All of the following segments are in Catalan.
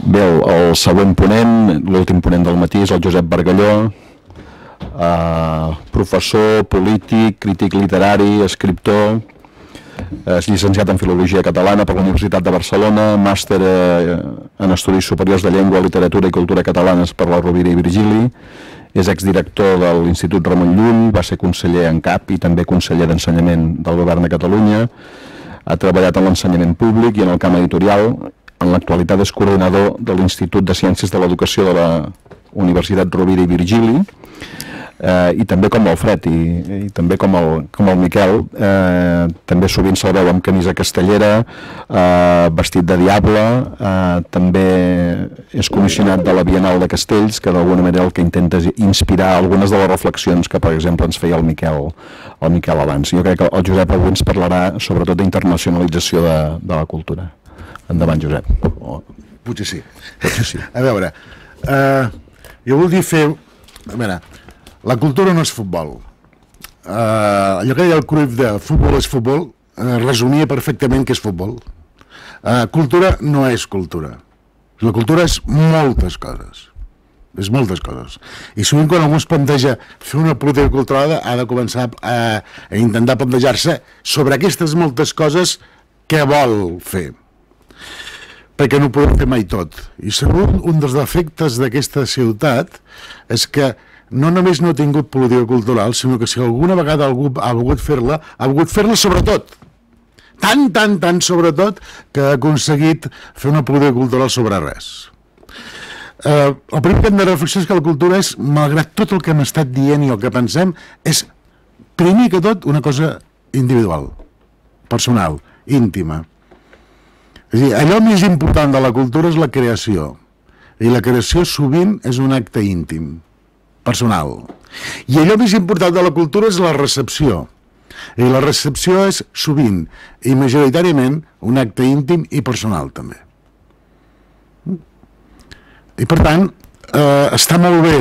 Bé, el següent ponent, l'últim ponent del matí, és el Josep Bargalló, professor, polític, crític literari, escriptor, és llicenciat en Filologia Catalana per la Universitat de Barcelona, màster en Estudis Superiors de Llengua, Literatura i Cultura Catalanes per la Rovira i Virgili, és exdirector de l'Institut Ramon Llull, va ser conseller en cap i també conseller d'Ensenyament del Govern de Catalunya, ha treballat en l'ensenyament públic i en el camp editorial. En l'actualitat és coordinador de l'Institut de Ciències de l'Educació de la Universitat Rovira i Virgili, i també com el Fred i també com el Miquel, també sovint se'l veu amb camisa castellera, vestit de diable, també és comissionat de la Bienal de Castells, que d'alguna manera el que intenta és inspirar algunes de les reflexions que, per exemple, ens feia el Miquel abans. Jo crec que el Josep avui ens parlarà sobretot d'internacionalització de la cultura. Endavant, Josep. Potser sí. A veure, jo voldria fer... A veure, la cultura no és futbol. Allò que deia el Cruyff de futbol és futbol, resumia perfectament què és futbol. Cultura no és cultura. La cultura és moltes coses. És moltes coses. I sovint quan algú es planteja fer una política cultural ha de començar a intentar plantejar-se sobre aquestes moltes coses què vol fer. Perquè no ho podem fer mai tot. I segur un dels defectes d'aquesta ciutat és que no només no ha tingut política cultural, sinó que si alguna vegada algú ha volgut fer-la sobretot. Tant sobretot que ha aconseguit fer una política cultural sobre res. El primer que hem de reflexionar és que la cultura és, malgrat tot el que hem estat dient i el que pensem, és primer que tot una cosa individual, personal, íntima. És a dir, allò més important de la cultura és la creació, i la creació sovint és un acte íntim, personal. I allò més important de la cultura és la recepció, i la recepció és sovint i majoritàriament un acte íntim i personal també. I per tant, està molt bé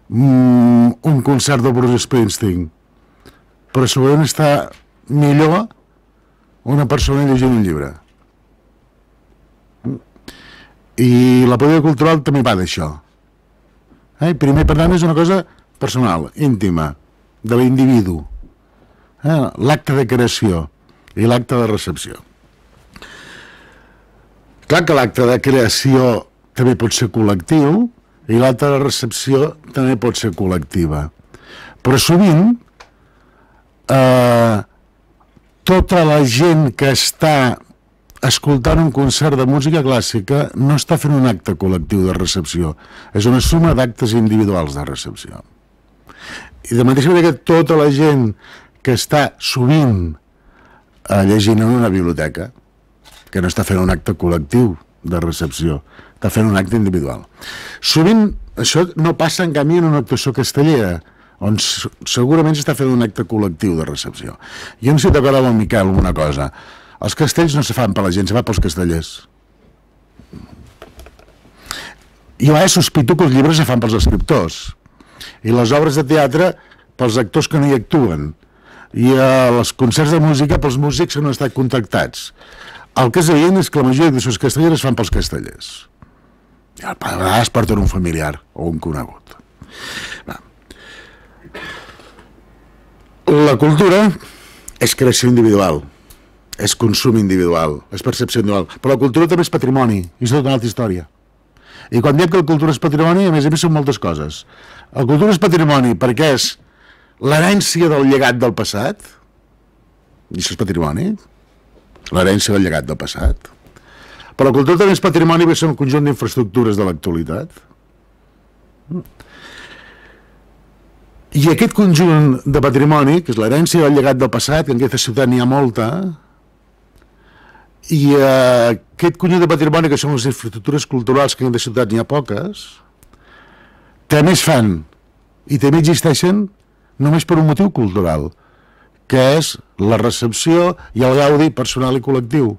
un concert de Bruce Springsteen, però segurament està millor una persona llegint un llibre. I la política cultural també va d'això. Primer, per tant, és una cosa personal, íntima, de l'individu. L'acte de creació i l'acte de recepció. Clar que l'acte de creació també pot ser col·lectiu i l'acte de recepció també pot ser col·lectiva. Però sovint tota la gent que està escoltant un concert de música clàssica no està fent un acte col·lectiu de recepció, és una suma d'actes individuals de recepció. I de mateixa manera que tota la gent que està sovint llegint en una biblioteca, que no està fent un acte col·lectiu de recepció, està fent un acte individual. Sovint això no passa en canvi en una actuació castellera, on segurament s'està fent un acte col·lectiu de recepció. Jo no sé si d'acord amb el Miquel una cosa. Els castells no se fan per la gent, se fan pels castellers. Jo sospito que els llibres se fan pels escriptors i les obres de teatre pels actors que no hi actuen i els concerts de música pels músics que no han estat contractats. El que és evident és que la majoria de les castelleres es fan pels castellers. I a vegades porten un familiar o un conegut. La cultura és creació individual, és consum individual, és percepció individual, però la cultura també és patrimoni, i és tota una altra història. I quan diem que la cultura és patrimoni, a més són moltes coses. La cultura és patrimoni perquè és l'herència del llegat del passat, i això és patrimoni, l'herència del llegat del passat. Però la cultura també és patrimoni perquè són un conjunt d'infraestructures de l'actualitat. I aquest conjunt de patrimoni, que és l'herència del llegat del passat, que en aquesta ciutat n'hi ha molta, i aquest conjunt de patrimoni, que són les infraestructures culturals, que en aquesta ciutat n'hi ha poques, també es fan i també existeixen només per un motiu cultural, que és la recepció i el gaudi personal i col·lectiu.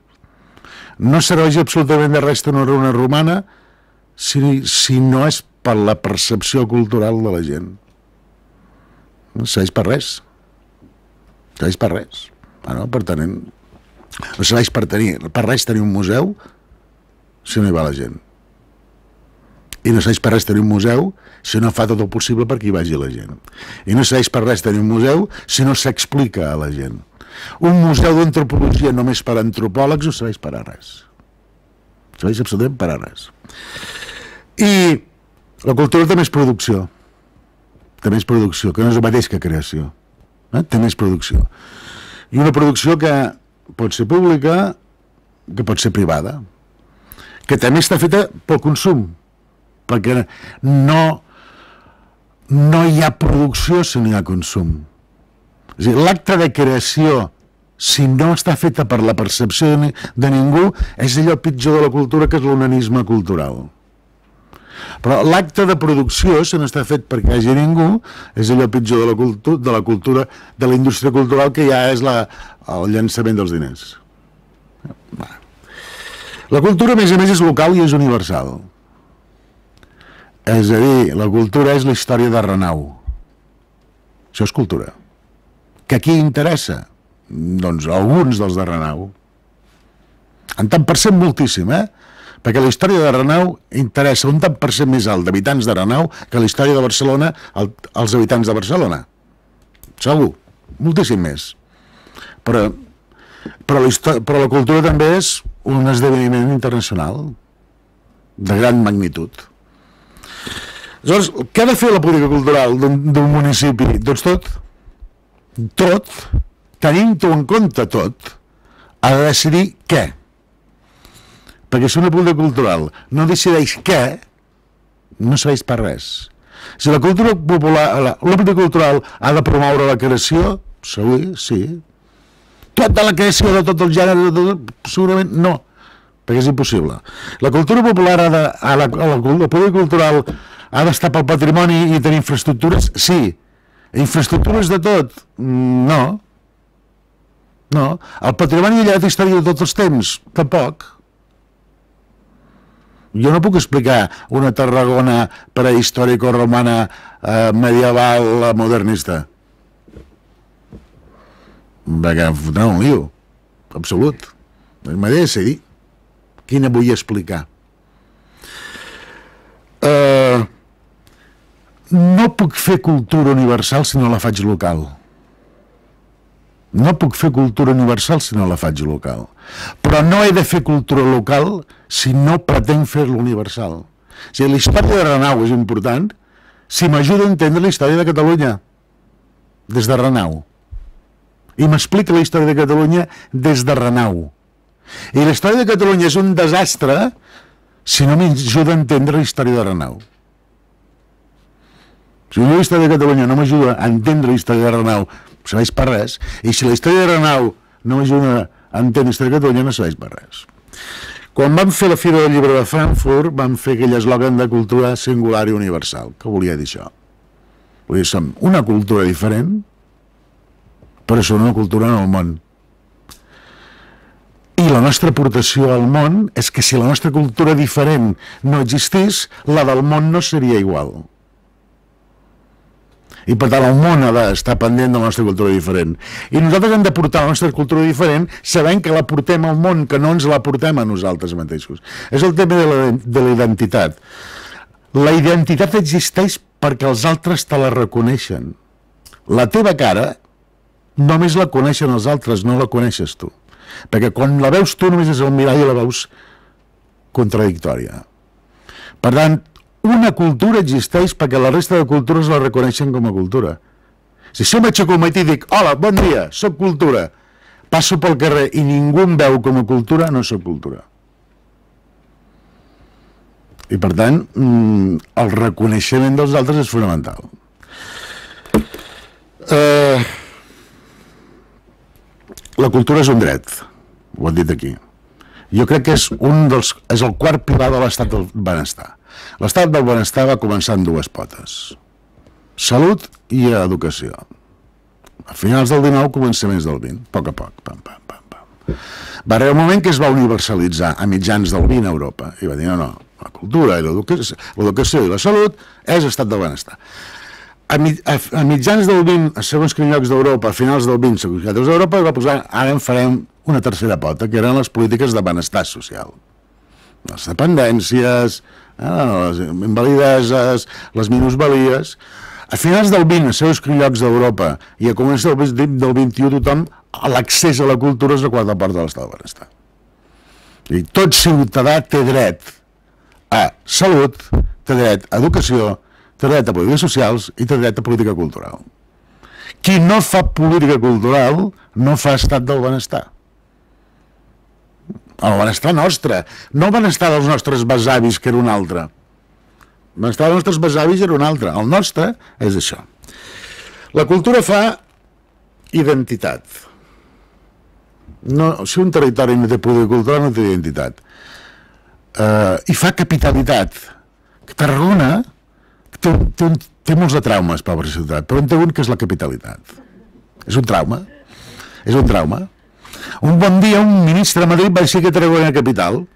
No serveix absolutament de res tenir una romana si no és per la percepció cultural de la gent. No serveix per res. Serveix per res. Per tant, no serveix per res tenir un museu si no hi va la gent. I no serveix per res tenir un museu si no fa tot el possible perquè hi vagi la gent. I no serveix per res tenir un museu si no s'explica a la gent. Un museu d'antropologia només per a antropòlegs no serveix per a res. Serveix absolutament per a res. I la cultura té més producció. Té més producció, que no és el mateix que creació. Té més producció. I una producció que pot ser pública, que pot ser privada, que també està feta pel consum, perquè no hi ha producció si no hi ha consum. És a dir, l'acte de creació, si no està feta per la percepció de ningú, és allò pitjor de la cultura, que és l'onanisme cultural. Però l'acte de producció, si no està fet perquè hi hagi ningú, és allò pitjor de la cultura, de la indústria cultural, que ja és el llançament dels diners. La cultura, a més, és local i és universal. És a dir, la cultura és la història de Renau. Això és cultura. Que a qui interessa? Doncs alguns dels de Renau. En tant per cent moltíssim, perquè la història de Renau interessa un tant per cent més alt d'habitants de Renau que la història de Barcelona als habitants de Barcelona. Segur, moltíssim més. Però la cultura també és un esdeveniment internacional de gran magnitud. Aleshores, què ha de fer la política cultural d'un municipi? Doncs tot, tenint-ho en compte tot, ha de decidir què. Perquè si una política cultural no decideix què, no serveix per res. Si la cultura popular, la política cultural ha de promoure la creació, sí. Tota la creació de tot el gènere, segurament no, perquè és impossible. La cultura popular la política cultural ha d'estar pel patrimoni i tenir infraestructures? Sí. Infraestructures de tot? No. El patrimoni ha llevat història de tots els temps? Tampoc. Jo no puc explicar una Tarragona prehistòrico-romana, medieval, modernista. Perquè em fotrà un lío. Absolut. M'ha de decidir quina vull explicar. No puc fer cultura universal si no la faig local. No puc fer cultura universal si no la faig local. Però no he de fer cultura local si no pretenc fer-la universal. O sigui, la història de Renau és important si m'ajuda a entendre la història de Catalunya des de Renau. I m'explica la història de Catalunya des de Renau. I la història de Catalunya és un desastre si no m'ajuda a entendre la història de Renau. Si la història de Catalunya no m'ajuda a entendre la història de Renau, no serveix per res. I si la història de Renau no m'ajuda a entendre la història de Catalunya, no serveix per res. Quan vam fer la Fira del Llibre de Frankfurt, vam fer aquell eslògan de cultura singular i universal. Què volia dir això? Vull dir, som una cultura diferent, però som una cultura en el món. I la nostra aportació al món és que si la nostra cultura diferent no existís, la del món no seria igual. I per tant el món ha d'estar pendent de la nostra cultura diferent. I nosaltres hem de portar la nostra cultura diferent sabent que la portem al món, que no ens la portem a nosaltres mateixos. És el tema de la identitat. La identitat existeix perquè els altres te la reconeixen. La teva cara només la coneixen els altres, no la coneixes tu. Perquè quan la veus tu només és el mirall i la veus contradictòria. Per tant, una cultura existeix perquè la resta de cultures la reconeixen com a cultura. Si jo m'aixeco al matí i dic, hola, bon dia, soc cultura, passo pel carrer i ningú em veu com a cultura, no soc cultura. I per tant, el reconeixement dels altres és fonamental. La cultura és un dret, ho han dit aquí. Jo crec que és el quart pilar de l'estat del benestar. L'estat del benestar va començar amb dues potes: salut i educació. A finals del 19, començaments del 20, a poc a poc, pam, pam, pam, pam. Va arribar un moment que es va universalitzar a mitjans del 20 a Europa i va dir, no, la cultura i l'educació i la salut és estat del benestar. A mitjans del 20, a segons quins llocs d'Europa, a finals del 20, segons quins llocs d'Europa, es va posar, ara en farem una tercera pota, que eren les polítiques de benestar social. les dependències, les invalideses, les minusvalies. A finals del 20, a certs llocs d'Europa, i a començaments del 21, tothom, l'accés a la cultura és la quarta part de l'estat del benestar. I tot ciutadà té dret a salut, té dret a educació, té dret a polítiques socials i té dret a política cultural. Qui no fa política cultural no fa estat del benestar. El benestar nostre, no el benestar dels nostres besavis, que era un altre. El benestar dels nostres besavis era un altre. El nostre és això. La cultura fa identitat. No, si un territori no té política cultural, no té identitat. I fa capitalitat. Tarragona té molts de traumes per la ciutat, però en té un que és la capitalitat. És un trauma. És un trauma. Un bon dia un ministre de Madrid va decidir que Tarragona era capital.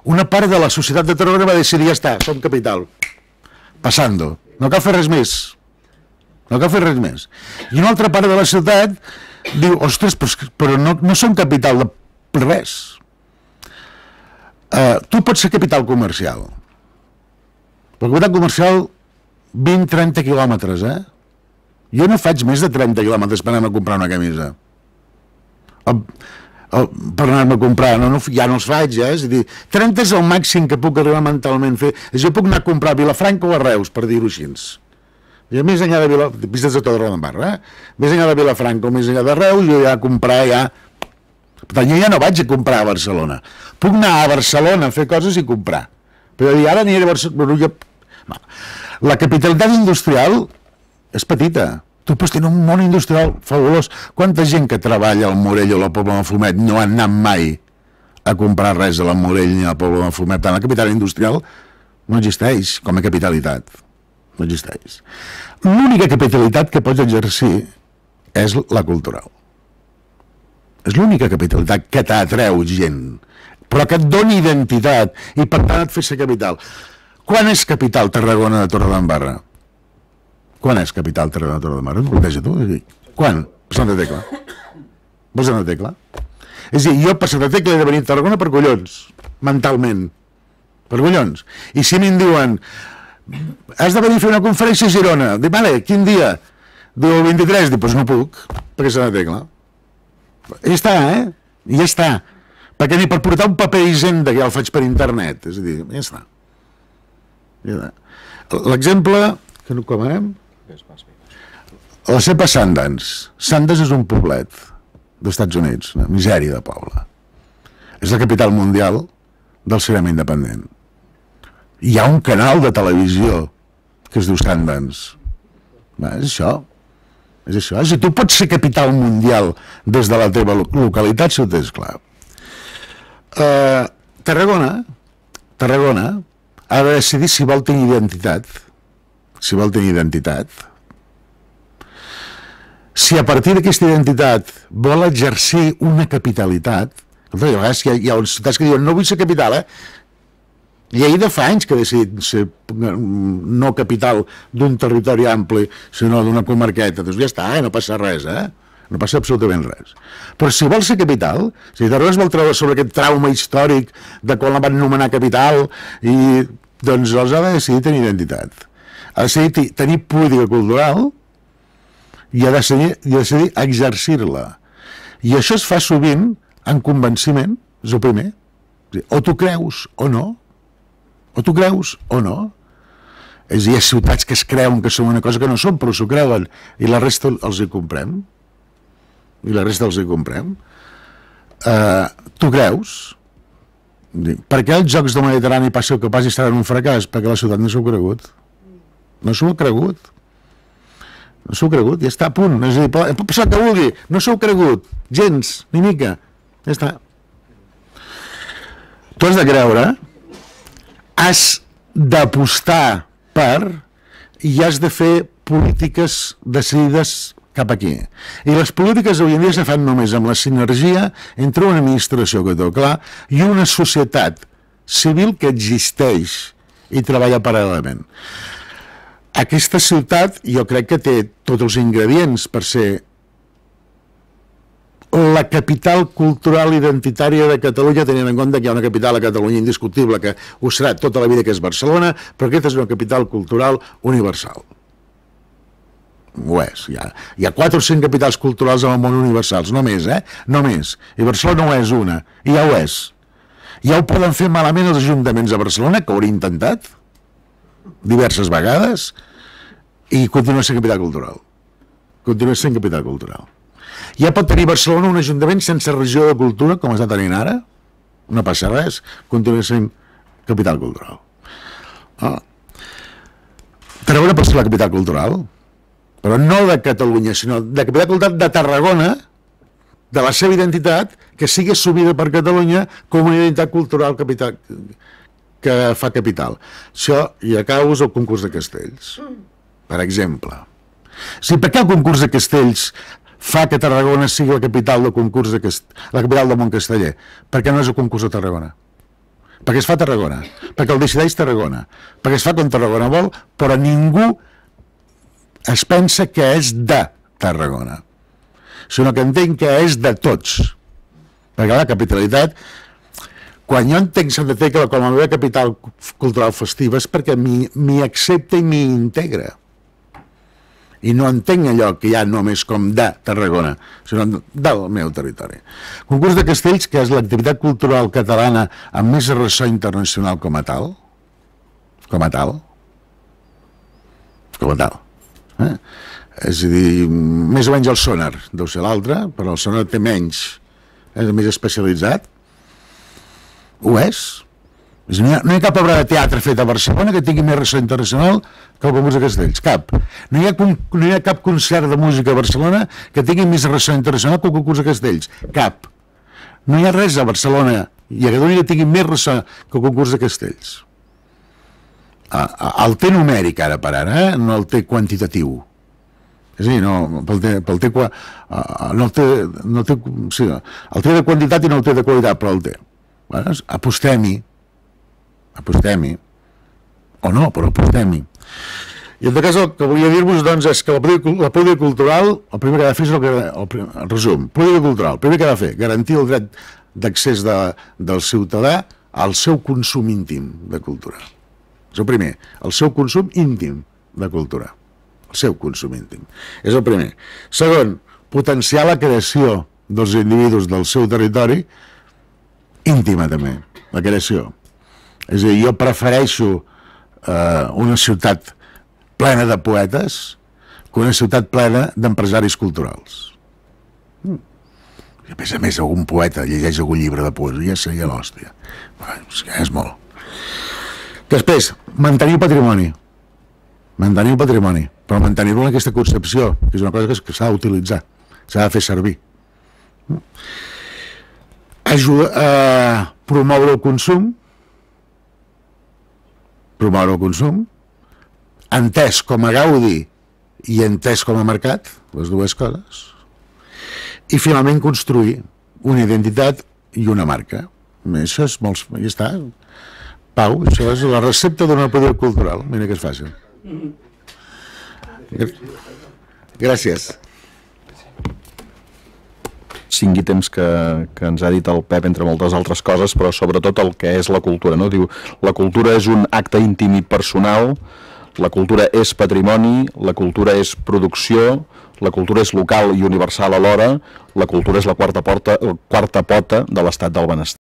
Una part de la societat de Tarragona va decidir, ja està, som capital. Passando. No cal fer res més. No cal fer res més. I una altra part de la ciutat diu, ostres, però no som capital de res. Tu pots ser capital comercial. La capital comercial 20-30 quilòmetres, Jo no faig més de 30 quilòmetres per anar a comprar una camisa. Per anar-me a comprar, ja no els faig, És a dir, 30 és el màxim que puc arribar mentalment a fer. Jo puc anar a comprar a Vilafranca o a Reus, per dir-ho així. I més enllà de Vilafranca, vistes de tota Roda més enllà de Vilafranca o més enllà de Reus, jo ja a comprar Per tant, jo ja no vaig a comprar a Barcelona. Puc anar a Barcelona a fer coses i comprar. Però ara aniré a Barcelona. La capitalitat industrial és petita. Tu pots tenir un món industrial fabulós. Quanta gent que treballa al Morell o a la Pobla de Mafumet no han anat mai a comprar res a la Morell ni a la Pobla de Mafumet? La capital industrial no existeix com a capitalitat. No existeix. L'única capitalitat que pots exercir és la cultural. És l'única capitalitat que t'atreu gent, però que et doni identitat i per tant et fa ser capital. Quan és capital Tarragona de Torredembarra? Quan és capital Tarragona de Torredembarra? T'ho planteja tu? Quan? Per Santa Tecla. Per Santa Tecla. És a dir, jo per Santa Tecla he de venir a Tarragona per collons, mentalment. Per collons. I si m'hi diuen, has de venir a fer una conferència a Girona. Dic, vale, quin dia? Diu el 23. Dic, doncs no puc, perquè és Santa Tecla. I ja està, I ja està. Perquè ni per portar un paper d'Hisenda, que ja el faig per internet. És a dir, ja està. L'exemple que no comarem, la cepa Sundance. Sundance és un poblet dels Estats Units, una misèria de poble. És la capital mundial del cinema independent. Hi ha un canal de televisió que es diu Sundance. És això. És això. És a dir, tu pots ser capital mundial des de la teva localitat, si ho tens clar. Tarragona ha de decidir si vol tenir identitat. Si vol tenir identitat. Si a partir d'aquesta identitat vol exercir una capitalitat, a vegades hi ha ciutats que diuen no vull ser capital, Lleida fa anys que ha decidit ser no capital d'un territori ampli, sinó d'una comarqueta. Doncs ja està, no passa res, no passa absolutament res. Però si vol ser capital, si Tarragona es vol treure sobre aquest trauma històric de quan la van nomenar capital, i doncs els ha de decidir tenir identitat. Ha de decidir tenir política cultural i ha de decidir exercir-la. I això es fa sovint en convenciment, és el primer. O tu creus o no. O tu creus o no. És a dir, hi ha ciutats que es creuen que són una cosa que no són, però s'ho creuen, i la resta els hi comprem. I la resta els hi comprem. Tu creus? Per què els Jocs del Mediterrani passi el que passi seran un fracàs? Perquè la ciutat no s'ho ha cregut. No s'ho ha cregut. No s'ho ha cregut, ja està a punt. És a dir, pot passar el que vulgui, no s'ho ha cregut. Gens, ni mica. Ja està. Tu has de creure, has d'apostar per i has de fer polítiques decidides cap aquí. I les polítiques avui en dia se fan només amb la sinergia entre una administració que té clar i una societat civil que existeix i treballa paral·lelament. Aquesta ciutat jo crec que té tots els ingredients per ser la capital cultural identitària de Catalunya, tenint en compte que hi ha una capital a Catalunya indiscutible, que ho serà tota la vida, que és Barcelona, però aquesta és una capital cultural universal. Ho és. Hi ha 4 o 5 capitals culturals en el món universals, no més, no més. I Barcelona no és una, i ja ho és. Ja ho poden fer malament els ajuntaments de Barcelona, que ho hauria intentat diverses vegades, i continua sent capital cultural. Continua sent capital cultural. Ja pot tenir Barcelona un ajuntament sense regió de cultura, com està tenint ara, no passa res, continua sent capital cultural. Tarragona pot ser la capital cultural, però no de Catalunya, sinó de capital cultural de Tarragona, de la seva identitat, que sigui assumida per Catalunya com una identitat cultural capital, que fa capital. Això, i acabo, és el concurs de castells, per exemple. Sí, per què el concurs de castells fa que Tarragona sigui la capital del concurs la capital del món casteller? Perquè no és el concurs de Tarragona. Perquè es fa a Tarragona, perquè el decideix Tarragona, perquè es fa com Tarragona vol, però ningú es pensa que és de Tarragona, sinó que entenc que és de tots. Perquè la capitalitat, quan jo entenc Sant Tecla com a meva capital cultural festiva, és perquè m'hi accepta i m'hi integra. I no entenc allò que hi ha només com de Tarragona, sinó del meu territori. Concurs de Castells, que és l'activitat cultural catalana amb més ressò internacional com a tal. És a dir, més o menys el Sonar, deu ser l'altre, però el Sonar té menys, és més especialitzat. Ho és. No hi ha cap obra de teatre feta a Barcelona que tingui més ressò internacional que el concurs de Castells, cap. No hi ha cap concert de música a Barcelona que tingui més ressò internacional que el concurs de Castells, cap. No hi ha res a Barcelona i a Catalunya que tingui més ressò que el concurs de Castells. El té numèric ara per ara, no el té quantitatiu. És a dir, el té de quantitat i no el té de qualitat, però el té. Apostem-hi, o no, però apostem-hi. I en tot cas el que volia dir-vos doncs és que la política cultural, el primer que ha de fer és el resum, política cultural, el primer que ha de fer, garantir el dret d'accés del ciutadà al seu consum íntim de cultura. És el primer, el seu consum íntim de cultura, el seu consum íntim, és el primer. Segon, potenciar la creació dels individus del seu territori íntima també, la creació. És a dir, jo prefereixo una ciutat plena de poetes que una ciutat plena d'empresaris culturals. I a més, algun poeta llegeix algun llibre de poesia, seria l'hòstia. És molt. Després, mantenir el patrimoni. Mantenir el patrimoni, però mantenir-lo en aquesta concepció, que és una cosa que s'ha d'utilitzar, s'ha de fer servir. Promoure el consum, entès com a gaudi i entès com a mercat, les dues coses, i finalment construir una identitat i una marca. Això és molt... Ja està. Pau, això és la recepta d'una política cultural. Mira que és fàcil. Gràcies. 5 ítems que ens ha dit el Pep, entre moltes altres coses, però sobretot el que és la cultura, no? Diu, la cultura és un acte íntim i personal, la cultura és patrimoni, la cultura és producció, la cultura és local i universal alhora, la cultura és la quarta pota de l'estat del benestar.